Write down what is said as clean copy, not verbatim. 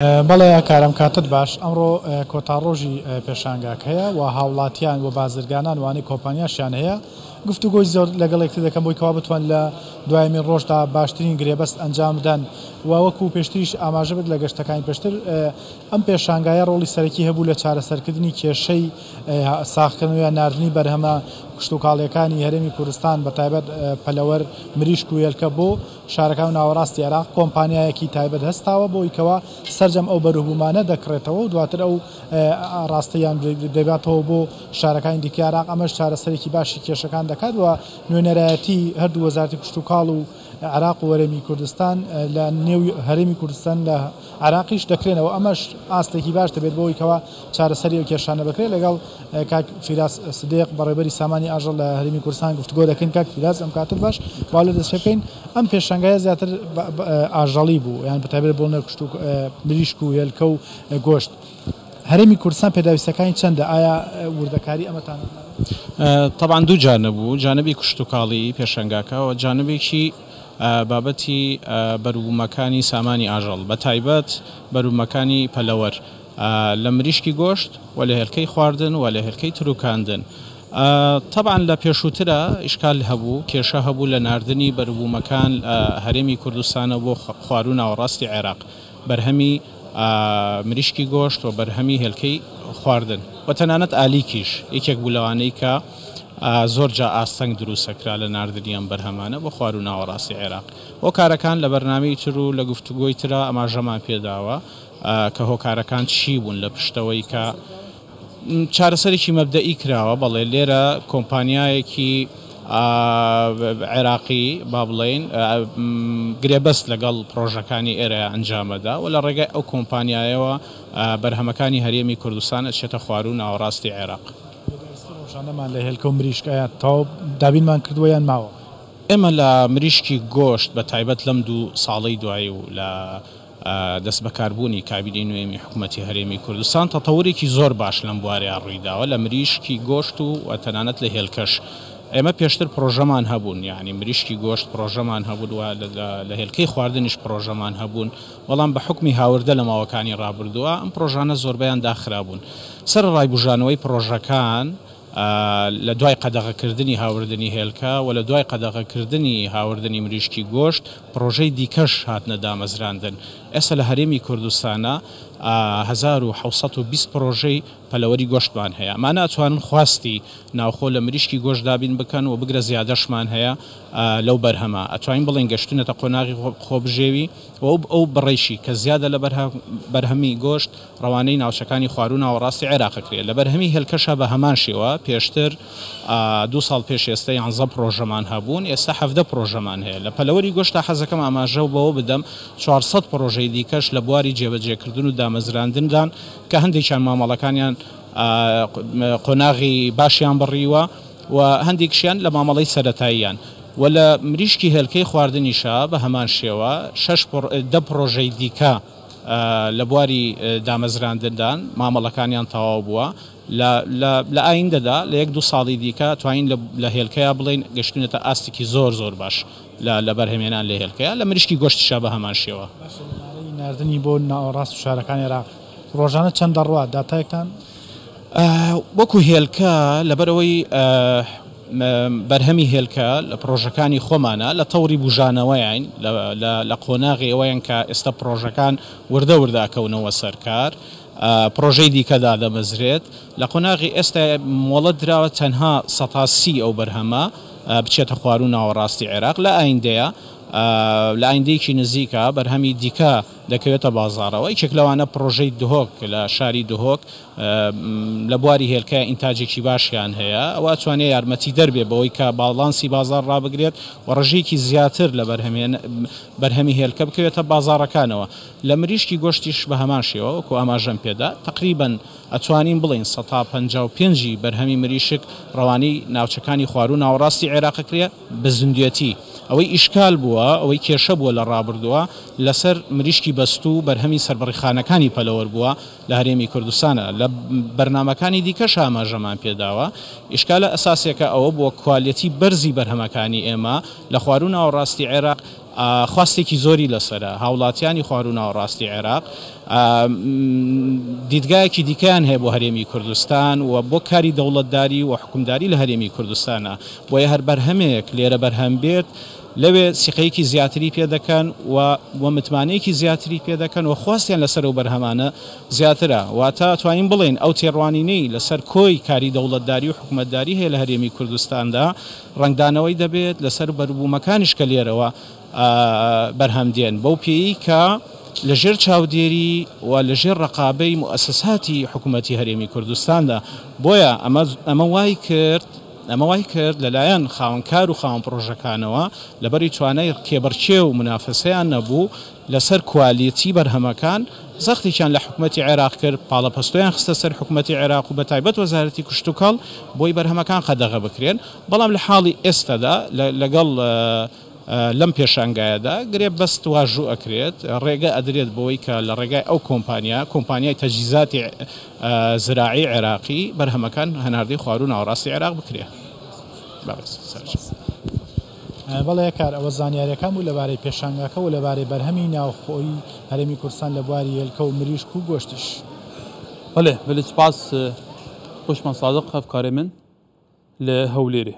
بەڵێ کارم کاتت باش ئەمڕۆ کۆتا ڕۆژی پێشانگاکەیە و هاوڵاتیان و بازرگانان وانەی کۆمپانیاشیان هەیە گفتوگۆی زۆر لەگەڵ یەکتر دەکەن بۆی کەوا بتوان لە دوایمین ڕۆژدا باشترین گرێبەست ئەنجام بدەن و وەکو پێشتریش ئاماژە بێت لە گەشتەکانی پێشتر ئەم پێشانگایە ڕۆڵی سەرەکی هەبوو لە چارەسەرکردنی کێشەی ساغکردنەوە یان ناردنی بەرهەمە کشتوکاڵیەکانی هەرێمی کوردستان بە تایبەت پەلەوەر مریشک و هێلکە بۆ شارەکان و ناوەڕاستی عێراق کۆمپانیایەکی تایبەت هەستاوە بۆی کەوا سەرجەم ئەو بەروبوومانە دەکڕێتەوە و دواتر ئەو ئاڕاستەیان دەباتەوە بۆ شارەکانی دیکەی عێراق، ئەمەش چارەسەرێکی باشی کێشەکان دەکات و نوێنەرایەتی هەردوو وەزارەتی کشتوکاڵ و عێراق و هەرێمی کوردستان لە نێو هەرێمی کوردستان لە عێراقیش دەکرێنەوە، ئەمەش ئاستێکی باش دەبێت بۆ ئەوەی کەوا چارەسەری ئەو کێشانە بکرێت. لەگەڵ کاک فیراس سدیق بەڕێوەبەری سامانی ئاژەڵ لە هەرێمی کوردستان گفتوگۆ دەکەین. کاک فیراس ئەم کاتت باش، با لێ دەست پێ بکەین. ئەم پێشانگایە زیاتر ئاژەڵی بوو، یان بەتایبەت بۆ نەکوشت و مریشک و هێلکە و گۆشت. هەرێمی کوردستان پێداویستیەکانی چەندە؟ ئایا وردەکاری ئەمەتان؟ تەبعەن دوو جانب بوو، جانبی کشتوکاڵی پێشانگاکە و جانبێکی بابەتی بەروبوومەکانی سامانی ئاژەڵ بەتایبەت بەروبوومەکانی پەلەوەر لە مریشکی گۆشت و لە هێلکەی خواردن و لە هێلکەی تروکاندن. تەبعەن لە پێشووترا ئیشکال هەبوو، کێشە هەبوو لە ناردنی بەروبوومەکان هەرێمی کوردستانەوە بۆ خواروو ناوەڕاستی عێراق، بەرهەمی مریشکی گۆشت و بەرهەمی هێلکەی خواردن و تەنانەت ئالیکیش یەکێک بوو لەوانەی کە زۆر جا ئاستەنگ دروستەکرا لە ناردنی ئەم بەرهەمانە بۆ خواروو ناوەڕاستی عێراق. هۆکارەکان لە بەرنامەی تر و لە گفتوگۆی ترا ئاماژەمان پێداوە کە هۆکارەکان چی بوون لە پشتەوەی کە چارەسەرێکی مەبدەئی کراوە، بەڵێ لێرە کۆمپانیایەکی عێراقی با بڵێین گرێبەست لەگەڵ پڕۆژەکانی ئێرە ئەنجامەدا و لە ڕێگای ئەو کۆمپانیایەوە بەرهەمەکانی هەرێمی کوردستان ئەچێتە خواروو ناوەڕاستی عێراق. پێداویستی ڕۆژانەمان لە هێلکە و مریشک ئایا تەواو دابینمان کردووە یان ماوە؟ ئێمە لە مریشکی گۆشت بە تایبەت لەم دوو ساڵەی دوایی و لە دەستبەکاربوونی کابینەی نوێمی حکومەتی هەرێمی کوردستان تەتەورێکی زۆر باش لەم بوارەیا ڕوویداوە لە مریشکی گۆشت و تەنانەت لە هێلکەش ئێمە پێشتر پڕۆژەمان هەبوون یانی مریشکی گۆشت پڕۆژەمان هەبوون و لە هێلکەی خواردنیش پڕۆژەمان هەبوون بەڵام بە حوکمی هاوردە لە ماوەکانی ڕابردووە ئەم پڕۆژانە زۆربەیان داخرابوون سەرەڕای بوژانەوەی پڕۆژەکان لە دوای قەدەغەکردنی هاوردنی هێلکە و لە دوای قەدەغەکردنی هاوردنی مریشکی گۆشت، پڕۆژەی دیکەش هاتنە دامەزراندن. ئێستا لە هەرێمی کوردستانا 1720 پڕۆژەی پەلەوەری گۆشتمان هەیە. ئەمانە ئەتوانن خواستی ناوخۆ لە مریشکی گۆشت دابین بکەن و بگرە زیادەشمان هەیە لەو بەرهەمە. ئەتوانین بڵێین گەشتوونەتە قۆناغی خۆبژێوی و ئەو بڕەیشی کە زیادە لە بەرهەمی گۆشت، ڕەوانەی ناوچەکانی خواروو ناوەڕاستی عێراق ئەکرێت. لە بەرهەمی هێلکەشا بە هەمان شێوە، پێشتر دوو ساڵ پێش ئێستە یانزە پڕۆژەمان هەبوون، ئێستا 17 پڕۆژەمان هەیە. لە پەلەوەری گۆشتا حەزەکەم ئاماژە بەوە بدەم 400 پڕۆژەی دیکەش لە بواری جێبەجێکردن و دامەزراندندان کە هەندێکیان مامەڵەکانیان قۆناغی باشیان بڕیوە و هەندێکیشیان لە مامەڵەی سەرەتاییان و لە مریشکی هێلکەی خواردنیشا بە هەمان شێوە شەش دە پڕۆژەی دیکە لە بواری دامەزراندندان، مامەڵەکانیان تەواو بووە، لە ئایندەدا لە یەک دوو ساڵی دیکە توانین لە هێلکەیا بڵێین گەشتوینەتە ئاستێکی زۆر زۆر باش لە بەرهەمهێنان لە هێلکەیا، لە مریشکی گۆشتیشا بە هەمان شێوە. باشە ژمارەی ناردنی بۆ ناوەڕاست و شارەکانی عێراق ڕۆژانە چەند دەڕوات، داتایەکتان؟ وەکو هێلکە لەبەرئەوەی بەرهەمی هێلکە لە پڕۆژەکانی خۆمانە لە تەوری بوژانەوەین لە قۆناغی ئەوەیان کە ئێستا پڕۆژەکان وردە وردە ئەکەونەوە سەر کار پڕۆژەی دیکە دادەمەزرێت لە قۆناغی ئێستا مۆڵەت دراوە تەنها 30% ئەو بەرهەمە بچێتە خواروو ناوەڕاستی عێراق لە ئایندەیە لە ئایندەیەکی نزیکە بەرهەمی دیکە دەکەوێتە بازاڕەوە یەکێک لەوانە پڕۆژەی دهۆک لە شاری دهۆک لە بواری هێلکە ئینتاجێکی باشیان هەیە، ئەوە ئەتوانێت یارمەتیدەر بێت بەوەی کە باڵانسی بازاڕ ڕابگرێت و ڕێژەیەکی زیاتر لە بەرهەمی هێلکە بکەوێتە بازاڕەکانەوە. لە مریشکی گۆشتیش بە هەمان شێوە وەکو ئاماژەم پێدا تەقریبەن ئەتوانین بڵێین 55% ی بەرهەمی مریشک ڕەوانەی ناوچەکانی خواروو ناوەڕاستی عێراق ئەکرێت بە زیندوێتی. ئەوەی ئیشکال بووە، ئەوەی کێشە بووە لە ڕابردووە لەسەر مریشکی بەستوو و بەرهەمی سەربڕیخانەکانی پەلەوەر بووە، لە هەرێمی کوردستانە، لە بەرنامەکانی دیکەش ئاماژەمان پێداوە، ئیشکالە ئەساسیەکە ئەوە بووە کوالێتی بەرزی بەرهەمەکانی ئێمە لە خواروو ناوەڕاستی عێراق خواستێکی زۆری لەسەرە، هاوڵاتیانی خواروو ناوەڕاستی عێراق دیدگایەکی دیکەیان هەیە بۆ هەرێمی کوردستان و بۆ کاری دەوڵەتداری و حوکمداری لە هەرێمی کوردستانە، بۆیە هەر بەرهەمێک لێرە بەرهەم بێت لەوێ سیقەیەکی زیاتری پێ دەکەن و و متمانەیەکی زیاتری پێ دەکەن و خواستیان لەسەر ئەو بەرهەمانە زیاترە، واتە ئەتوانین بڵێین ئەو تێڕوانینەی لەسەر کۆی کاری دەوڵەتداری و حکومەتداری هەیە لە هەرێمی کوردستاندا ڕەنگدانەوەی دەبێت لەسەر بەروبوومەکانیش کە لێرەوە بەرهەم دێن، بەو پێیەی کە لەژێر چاودێری و لەژێر ڕەقابەی موئەسەساتی حکومەتی هەرێمی کوردستاندا، بۆیە ئەمە ئەمە وای کرد ئەمە وای کرد لەلایەن خاوەن کار و خاوەن پڕۆژەکانەوە لەبەری توانای کێبڕکێ و مونافەسەیان نەبوو لەسەر کوالێتی بەرهەمەکان زەختێکیان لە حکومەتی عێراق کرد، پاڵەپەستۆیان خستە سەر حکومەتی عێراق و بەتایبەت وەزارەتی کشتوکاڵ بۆی بەرهەمەکان قەدەغە بکرێن، بەڵام لە حاڵی ئێستادا لەگەڵ لەم پێشانگایەدا گرێبەست واژوو ئەکرێت، ڕێگە ئەدرێت بەوەی کە لە ڕێگای ئەو کۆمپانیا، کۆمپانیای تەجهیزاتی زراعی عێراقی بەرهەمەکان هەناردەی خواروو ناوەڕاستی عێراق بکرێ. بەڵێ کار ئەوە زانیاریەکان بوو لەبارەی پێشانگاکە و لەبارەی بەرهەمی ناوخۆی هەرێمی کوردستان لە بواری هێلکە و مریشک و گۆشتیش. بەڵێ بەلێ سوپاس خۆشمان سادق هەڤکارێ من لە هەولێرێ.